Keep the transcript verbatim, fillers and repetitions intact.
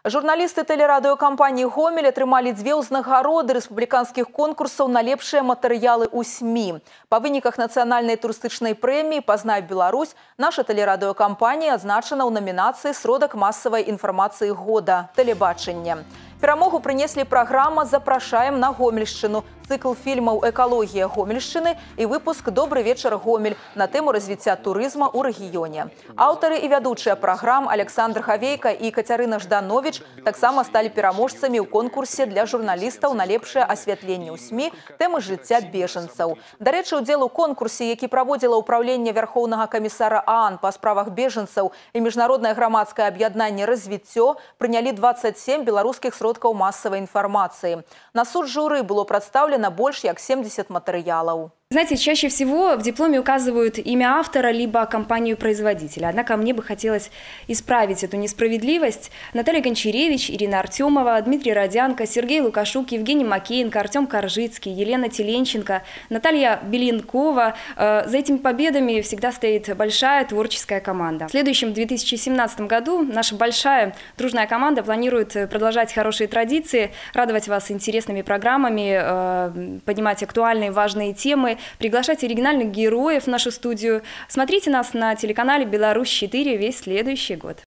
Журналисты телерадиокомпании «Гомель» атрымалі дзве ўзнагароды рэспубліканскіх конкурсаў на лепшыя матэрыялы ў СМИ. Па выніках нацыянальнай турыстычнай прэміі «Пазнай Беларусь» наша телерадиокомпания адзначана ў намінацыі «Сродак масавай інфармацыі года» тэлебачання. Перамогу прынеслі праграма «Запрашаем на Гомельшчыну», цикл фільмаў «Экалогія Гомельшчыны» і выпуск «Добры вечар, Гомель» на тэму развіцця турызма ў рэгіёне. Аўтары і вядучыя праграм Александр Хавейка і Кацярына Жданович таксама сталі пераможцамі ў конкурсе для журналістаў на лепшае асвятленне ў СМИ тэмы жыцця бежанцаў. Дарэчы, удзел у конкурсе, які праводзіла ўпраўленне Вярхоўнага камісара ААН па справах бежанцаў і міжнароднае грамадскае аб'яднанне «Развіццё», прынялі дваццаць сем беларускіх сродкаў масавай інфармацыі. На суд журы было прадстаўлена больше як семьдесят материалов. Знаете, чаще всего в дипломе указывают имя автора либо компанию-производителя. Однако мне бы хотелось исправить эту несправедливость. Наталья Гончаревич, Ирина Артемова, Дмитрий Родянко, Сергей Лукашук, Евгений Макеенко, Артем Коржицкий, Елена Теленченко, Наталья Беленкова. За этими победами всегда стоит большая творческая команда. В следующем две тысячи семнадцатом году наша большая дружная команда планирует продолжать хорошие традиции, радовать вас интересными программами, поднимать актуальные важные темы, приглашать оригинальных героев в нашу студию. Смотрите нас на телеканале «Беларусь четыре» весь следующий год.